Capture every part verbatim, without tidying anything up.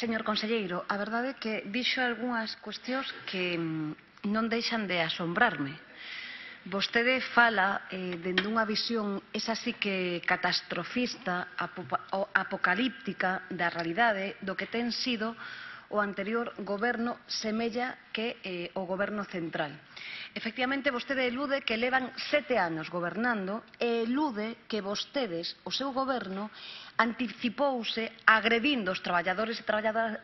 Señor conselleiro, a verdade é que dixo algunhas cuestións que non deixan de asombrarme. Vostede fala eh, dende unha visión, esa sí que catastrofista, apocalíptica da realidade do que ten sido o anterior goberno semella que eh, o goberno central. Efectivamente, vostede elude que levan sete anos gobernando e elude que vostedes, o seu goberno, anticipouse agredindo os traballadores e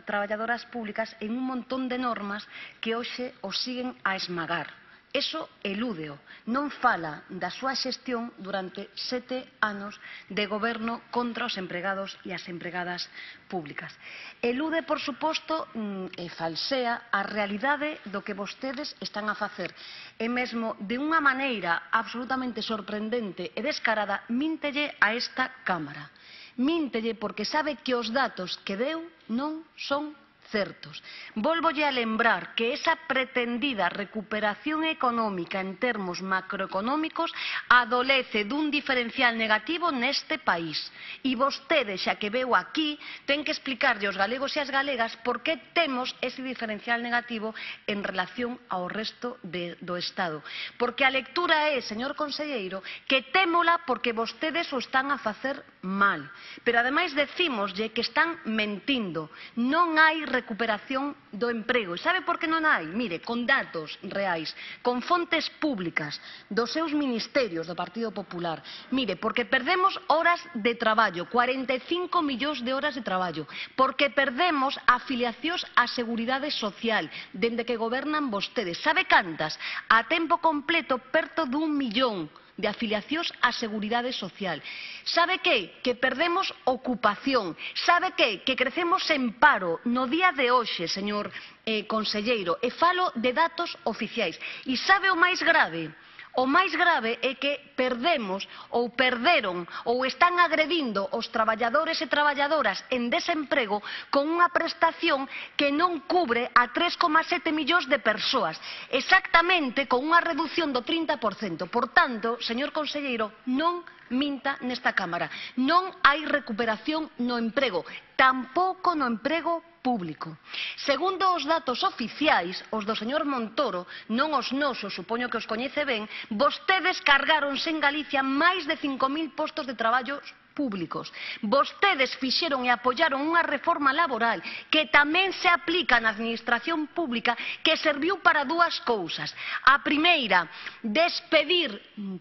traballadoras públicas en un montón de normas que hoxe os siguen a esmagar. Eso elúdeo, non fala da súa xestión durante sete anos de goberno contra os empregados e as empregadas públicas. Elude, por suposto, e falsea a realidade do que vostedes están a facer. E mesmo de unha maneira absolutamente sorprendente e descarada, míntelle a esta Cámara. Míntelle porque sabe que os datos que deu non son certos. Volvolle a lembrar que esa pretendida recuperación económica en termos macroeconómicos adolece dun diferencial negativo neste país. E vostede, xa que veu aquí, ten que explicarlle aos galegos e as galegas por que temos ese diferencial negativo en relación ao resto de, do Estado. Porque a lectura é, señor conselleiro, que témola porque vostedes o están a facer mal. Pero ademais decímoslle que están mentindo. Non hai recuperación do emprego. E sabe por que non hai? Mire, con datos reais, con fontes públicas dos seus ministerios do Partido Popular. Mire, porque perdemos horas de traballo, cuarenta e cinco millóns de horas de traballo, porque perdemos afiliacións á Seguridade Social, dende que gobernan vostedes. Sabe cantas? A tempo completo, perto dun millón de afiliacións á Seguridade Social. Sabe que? Que perdemos ocupación. Sabe que? Que crecemos en paro no día de hoxe, señor eh, conselleiro, e falo de datos oficiais. E sabe o máis grave? O máis grave é que perdemos ou perderon ou están agredindo os traballadores e traballadoras en desemprego con unha prestación que non cubre a tres coma sete millóns de persoas, exactamente con unha reducción do trinta por cento. Por tanto, señor conselleiro, non minta nesta Cámara. Non hai recuperación no emprego, tampouco no emprego público. Segundo os datos oficiais, os do señor Montoro, non os nosos, supoño que os coñece ben, vostedes cargáronse en Galicia máis de cinco mil postos de traballo públicos. Vostedes fixeron e apoiaron unha reforma laboral que tamén se aplica na administración pública que serviu para dúas cousas. A primeira, despedir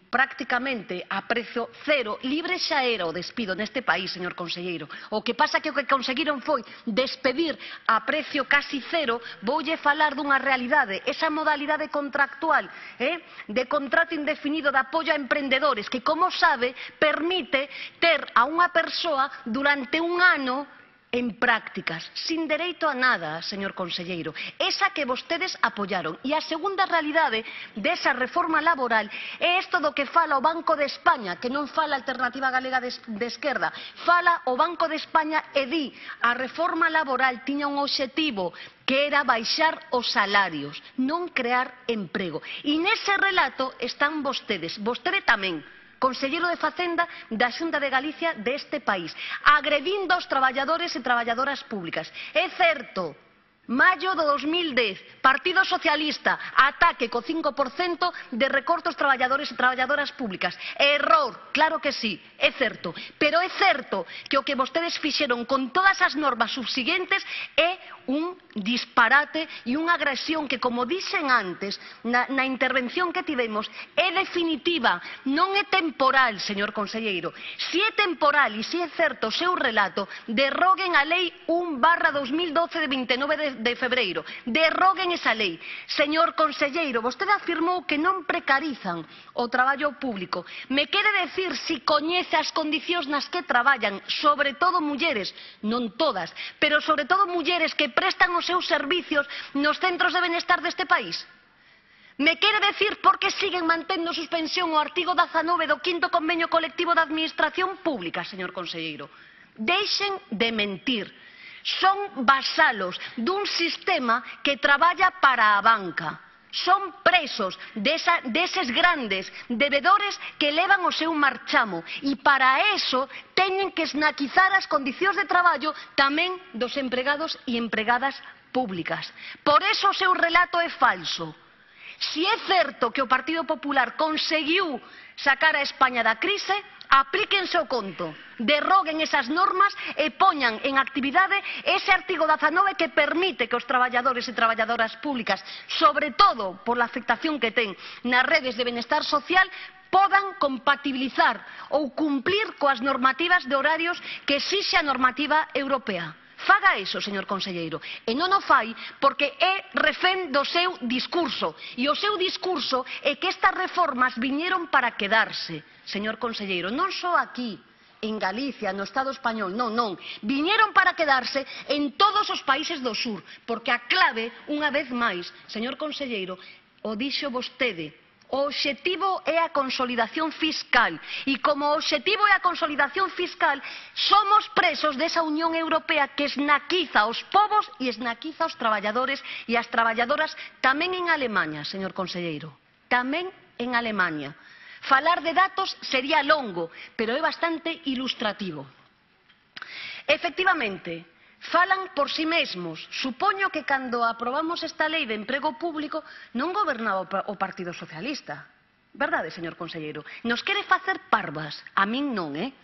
prácticamente a prezo cero, libre xa era o despido neste país, señor conselleiro. O que pasa que o que conseguiron foi despedir a precio casi cero. Voulle falar dunha realidade, esa modalidade contractual eh, de contrato indefinido de apoio a emprendedores que, como sabe, permite ter a unha persoa durante un ano en prácticas, sin dereito a nada, señor conselleiro. Esa que vostedes apoiaron. E a segunda realidade desa reforma laboral é isto do que fala o Banco de España, que non fala a Alternativa Galega de, de Esquerda, fala o Banco de España e di a reforma laboral tiña un obxectivo que era baixar os salarios, non crear emprego. E nese relato están vostedes, vostede tamén, conselleiro de Facenda da Xunta de Galicia deste país, agredindo aos traballadores e traballadoras públicas. É certo, maio do dos mil dez, Partido Socialista, ataque co cinco por cento de recortes traballadores e traballadoras públicas. Error, claro que sí, é certo. Pero é certo que o que vostedes fixeron con todas as normas subsiguientes é un disparate e unha agresión que, como dixen antes, na, na intervención que tivemos, é definitiva, non é temporal, señor conselleiro. Si é temporal e si é certo o seu relato, derroguen a Lei un barra dos mil doce de vinte e nove de de febreiro. Derroguen esa lei. Señor conselleiro, vostede afirmou que non precarizan o traballo público. Me quere decir si coñece as condicións nas que traballan, sobre todo mulleres, non todas, pero sobre todo mulleres que prestan os seus servicios nos centros de benestar deste país? Me quere decir por que siguen mantendo suspensión o artigo dezanove do quinto convenio colectivo da Administración Pública, señor conselleiro? Deixen de mentir. Son vasalos dun sistema que traballa para a banca. son presos desa, deses grandes debedores que levan o seu marchamo e para eso teñen que esnaquizar as condicións de traballo tamén dos empregados e empregadas públicas. Por eso o seu relato é falso. Si é certo que o Partido Popular conseguiu sacar a España da crise, aplíquense o conto, derroguen esas normas e poñan en actividade ese artigo dezanove que permite que os traballadores e traballadoras públicas, sobre todo por la afectación que ten nas redes de benestar social, podan compatibilizar ou cumplir coas normativas de horarios que exixe a normativa europea. Faga iso, señor conselleiro, e non o fai porque é refén do seu discurso, e o seu discurso é que estas reformas viñeron para quedarse, señor conselleiro, non só aquí, en Galicia, no Estado español, non, non, viñeron para quedarse en todos os países do sur, porque a clave, unha vez máis, señor conselleiro, o dixo vostede, o obxectivo é a consolidación fiscal e como o obxectivo é a consolidación fiscal somos presos desa Unión Europea que esnaquiza aos povos e esnaquiza aos traballadores e as traballadoras tamén en Alemanha, señor conselleiro, tamén en Alemanha. Falar de datos sería longo, pero é bastante ilustrativo. Efectivamente, falan por si mesmos. Supoño que cando aprobamos esta lei de emprego público non gobernaba o Partido Socialista. Verdade, señor conselleiro? Nos quere facer parvas. A min non, eh?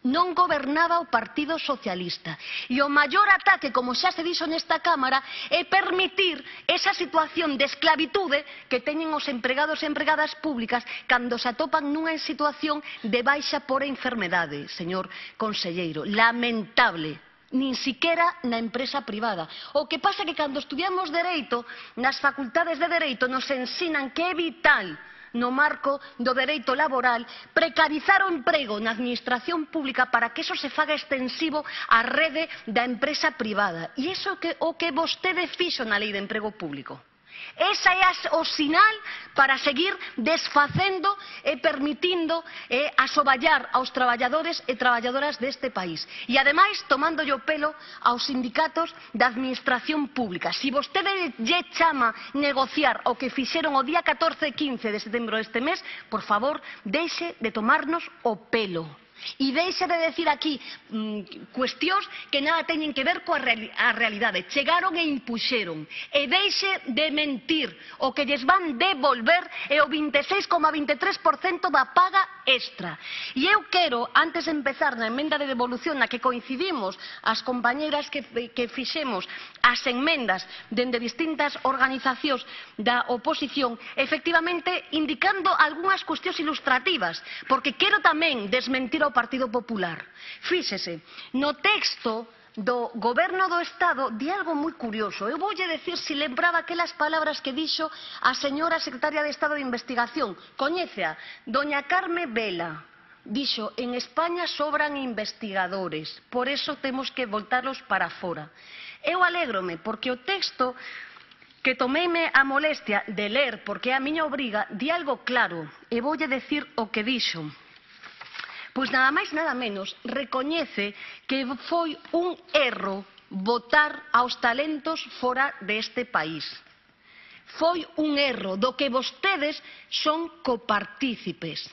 Non gobernaba o Partido Socialista. E o maior ataque, como xa se dixo nesta Cámara, é permitir esa situación de esclavitude que teñen os empregados e empregadas públicas cando se atopan nunha situación de baixa por enfermedade, señor conselleiro. Lamentable. Nin siquiera na empresa privada. O que pasa é que cando estudiamos Dereito, nas facultades de Dereito nos ensinan que é vital no marco do dereito laboral precarizar o emprego na administración pública para que eso se faga extensivo á rede da empresa privada. E iso é o que vostede fixo na lei de emprego público. Esa é o sinal para seguir desfacendo e permitindo eh, asoballar aos traballadores e traballadoras deste país. E, ademais, tomándolle o pelo aos sindicatos da administración pública. Si vostede lle chama negociar o que fixeron o día catorce e quince de setembro deste mes, por favor, deixe de tomarnos o pelo. E deixe de decir aquí mmm, cuestións que nada teñen que ver coa reali a realidade. Chegaron e impuxeron. E deixe de mentir. O que lles van devolver é o vinte e seis coma vinte e tres por cento da paga extra. E eu quero, antes de empezar na emenda de devolución na que coincidimos as compañeras que, que fixemos as enmendas dende distintas organizacións da oposición, efectivamente indicando algunhas cuestións ilustrativas, porque quero tamén desmentir ao Partido Popular. Fíxese, no texto do Goberno do Estado di algo moi curioso. Eu voulle decir se lembraba aquelas palabras que dixo a señora secretaria de Estado de Investigación. Coñécea, doña Carme Vela. Dixo, en España sobran investigadores, por eso temos que voltarlos para fora. Eu alégrome, porque o texto que tomeime a molestia de ler, porque é a miña obriga, di algo claro, e voulle decir o que dixo. Pois nada máis nada menos recoñece que foi un erro votar aos talentos fora deste país. Foi un erro do que vostedes son copartícipes.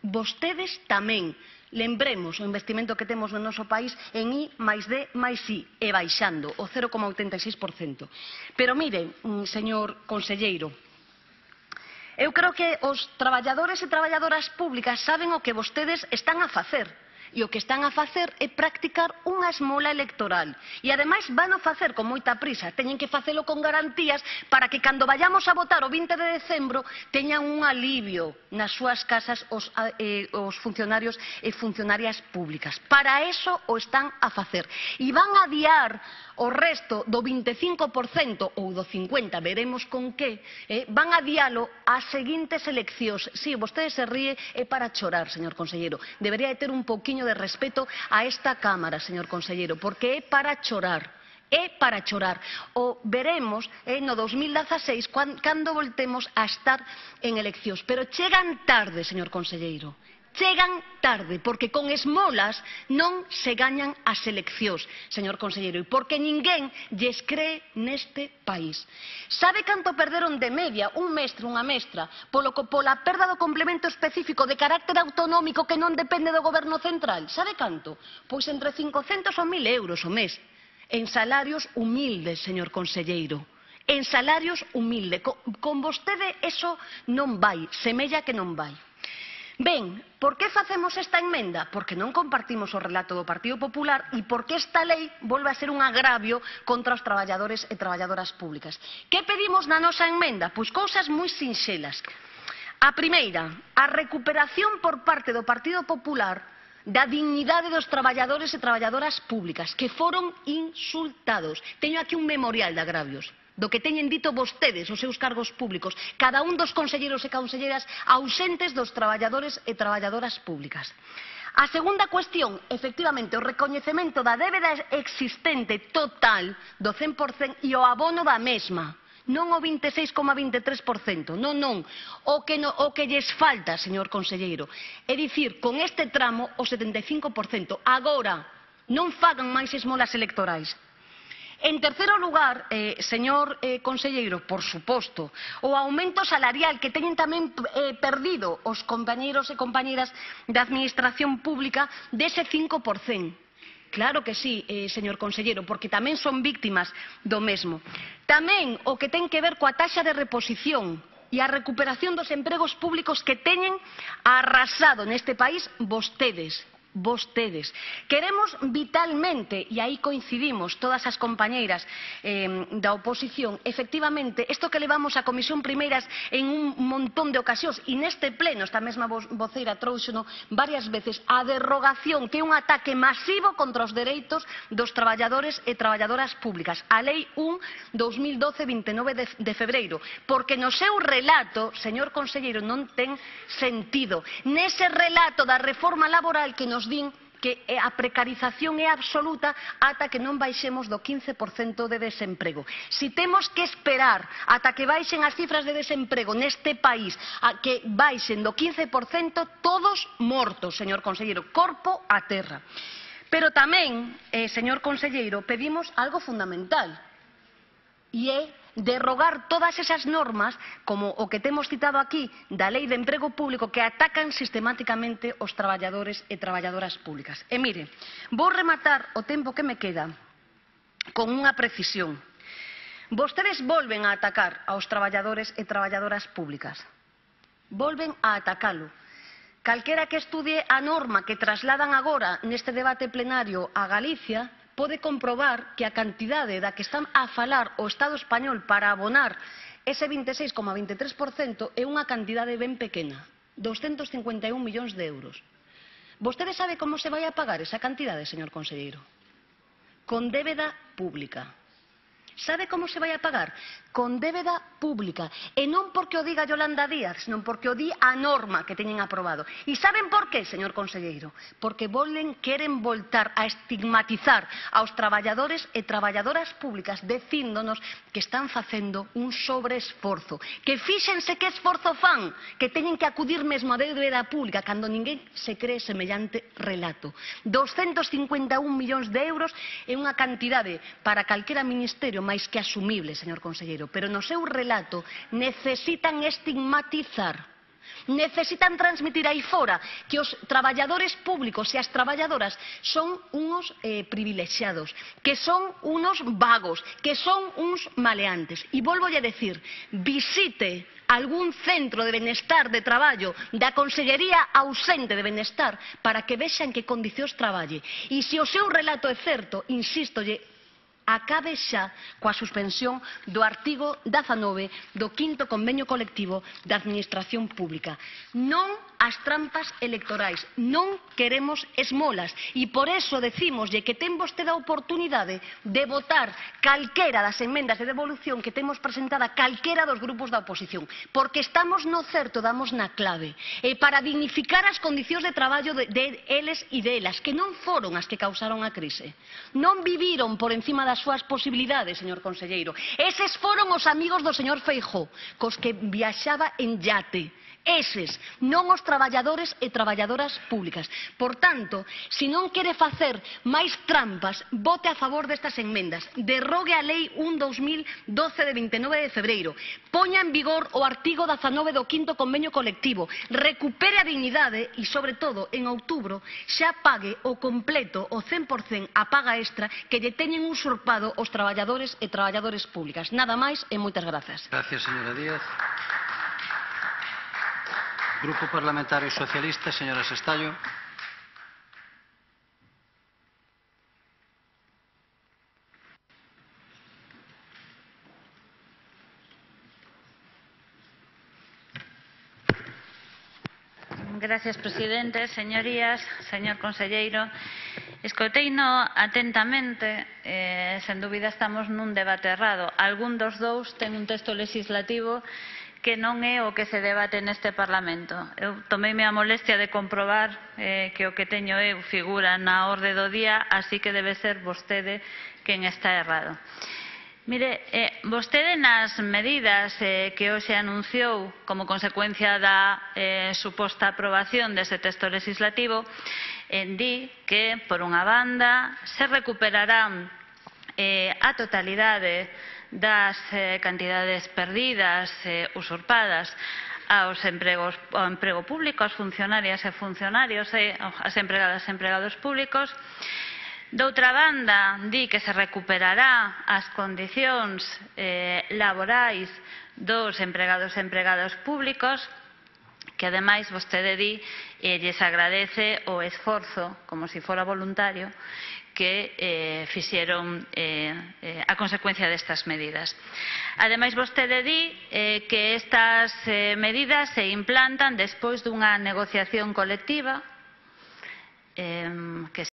Vostedes tamén. Lembremos o investimento que temos no noso país en I máis D máis I e baixando o cero coma oitenta e seis por cento. Pero mire, señor conselleiro, eu creo que os traballadores e traballadoras públicas saben o que vostedes están a facer. E o que están a facer é practicar unha esmola electoral. E, ademais, van a facer con moita prisa. Teñen que facelo con garantías para que, cando vayamos a votar o vinte de decembro, teñan un alivio nas súas casas os, eh, os funcionarios e funcionarias públicas. Para eso o están a facer. E van a adiar o resto do vinte e cinco por cento ou do cincuenta por cento, veremos con que, eh, van a dialo ás seguintes eleccións. Si, vostede se ríe, é para chorar, señor conselleiro. Debería de ter un pouquiño de respeto a esta Cámara, señor conselleiro, porque é para chorar. É para chorar. O veremos eh, no dos mil dezaseis cando voltemos a estar en eleccións. Pero chegan tarde, señor conselleiro. chegan tarde, porque con esmolas non se gañan as eleccións, señor conselleiro, e porque ninguén lles cree neste país. Sabe canto perderon de media un mestre, unha mestra, polo, pola perda do complemento específico de carácter autonómico que non depende do goberno central? Sabe canto? Pois entre cincocentos ou mil euros o mes, en salarios humildes, señor conselleiro. En salarios humildes. Con, con vostede eso non vai, semella que non vai. Ben, por que facemos esta enmenda? Porque non compartimos o relato do Partido Popular e porque esta lei volve a ser un agravio contra os traballadores e traballadoras públicas. Que pedimos na nosa enmenda? Pois cousas moi sinxelas. A primeira, a recuperación por parte do Partido Popular da dignidade dos traballadores e traballadoras públicas que foron insultados. Teño aquí un memorial de agravios do que teñen dito vostedes os seus cargos públicos, cada un dos conselleiros e conselleiras ausentes dos traballadores e traballadoras públicas. A segunda cuestión, efectivamente, o recoñecemento da débeda existente total do cen por cento e o abono da mesma. Non o vinte e seis coma vinte e tres por cento, non, non, o que, no, o que lles falta, señor conselleiro. É dicir, con este tramo, o setenta e cinco por cento. Agora, non fagan máis esmolas electorais. En terceiro lugar, eh, señor eh, conselleiro, por suposto, o aumento salarial que teñen tamén eh, perdido os compañeiros e compañeiras da administración pública dese cinco por cento. Claro que sí, eh, señor conselleiro, porque tamén son víctimas do mesmo. Tamén o que ten que ver coa taxa de reposición e a recuperación dos empregos públicos que teñen arrasado neste país vostedes. Vostedes. Queremos vitalmente, e aí coincidimos todas as compañeiras eh, da oposición, efectivamente, isto que levamos a Comisión Primeiras en un montón de ocasións, e neste pleno, esta mesma voceira trouxeno varias veces, a derrogación, que é un ataque masivo contra os dereitos dos traballadores e traballadoras públicas, a Lei un barra dos mil doce vinte e nove de, de febreiro, porque no seu relato, señor conselleiro, non ten sentido. Nese relato da reforma laboral que nos din que a precarización é absoluta ata que non baixemos do quince por cento de desemprego. Si temos que esperar ata que baixen as cifras de desemprego neste país, a que baixen do quince por cento, todos mortos, señor conselleiro, corpo a terra. Pero tamén, eh, señor conselleiro, pedimos algo fundamental, e é derrogar todas esas normas, como o que temos citado aquí, da Lei de Emprego Público, que atacan sistemáticamente os traballadores e traballadoras públicas. E mire, vou rematar o tempo que me queda con unha precisión. Vostedes volven a atacar aos traballadores e traballadoras públicas. Volven a atacalo. Calquera que estudie a norma que trasladan agora neste debate plenario a Galicia pode comprobar que a cantidade da que están a falar o Estado español para abonar ese vinte e seis coma vinte e tres por cento é unha cantidade ben pequena, doscentos cincuenta e un millóns de euros. Vostede sabe como se vai a pagar esa cantidade, señor conselleiro? Con débeda pública. Sabe como se vai a pagar? Con débeda pública. E non porque o diga Yolanda Díaz, senón porque o di a norma que teñen aprobado. E saben por qué, señor conselleiro? Porque volen, queren voltar a estigmatizar aos traballadores e traballadoras públicas dicíndonos que están facendo un sobreesforzo. Que fíxense que esforzo fan, que teñen que acudir mesmo a débeda pública cando ninguén se cree semellante relato. doscentos cincuenta e un millóns de euros é unha cantidade para calquera ministerio máis que asumible, señor conselleiro, pero no seu relato necesitan estigmatizar, necesitan transmitir aí fora que os traballadores públicos e as traballadoras son unos eh, privilexiados, que son unos vagos, que son uns maleantes. E volvo a decir, visite algún centro de benestar de traballo da Consellería ausente de benestar para que vexan que condicións traballe. E se o seu relato é certo, insístolle, acabe xa coa suspensión do artigo dezanove do quinto convenio colectivo da Administración Pública. Non as trampas electorais, non queremos esmolas e por eso decímoslle que ten vostede a oportunidade de votar calquera das enmendas de devolución que temos presentada calquera dos grupos da oposición, porque estamos no certo, damos na clave, e para dignificar as condicións de traballo de, de eles e delas, que non foron as que causaron a crise, non viviron por encima das súas posibilidades, señor conselleiro. Eses foron os amigos do señor Feijóo, cos que viaxaba en yate. Eses, non os traballadores traballadores e traballadoras públicas. Por tanto, se non quere facer máis trampas, vote a favor destas enmendas. Derrogue a Lei un barra dos mil doce de vinte e nove de febreiro. Poña en vigor o artigo dezanove do quinto convenio colectivo. Recupere a dignidade e, sobre todo, en outubro, xa pague o completo, o cen por cen, a paga extra que lle teñen usurpado os traballadores e traballadores públicas. Nada máis e moitas grazas. Gracias, señora Díaz. Grupo Parlamentario Socialista, señora Sestallo. Gracias, presidente. Señorías, señor conselleiro, escoiteino atentamente, eh, sen dúbida estamos nun debate errado. Algún dos dous ten un texto legislativo que non é o que se debate neste Parlamento. Eu tomeime a molestia de comprobar eh, que o que teño eu figura na orde do día, así que debe ser vostede quen está errado. Mire, eh, vostede nas medidas eh, que hoxe anunciou como consecuencia da eh, suposta aprobación dese texto legislativo, eh, di que, por unha banda, se recuperarán eh, a totalidade das eh, cantidades perdidas, eh, usurpadas aos empregos, ao emprego público, aos funcionarias e funcionarios e as empregadas e empregados públicos. Doutra banda, di que se recuperará as condicións eh, laborais dos empregados e empregadas públicos, que ademais vostede di e lles agradece o esforzo, como se fora voluntario, que eh, fixeron eh, eh, a consecuencia destas medidas. Ademais, vostede di eh, que estas eh, medidas se implantan despois dunha negociación colectiva eh, que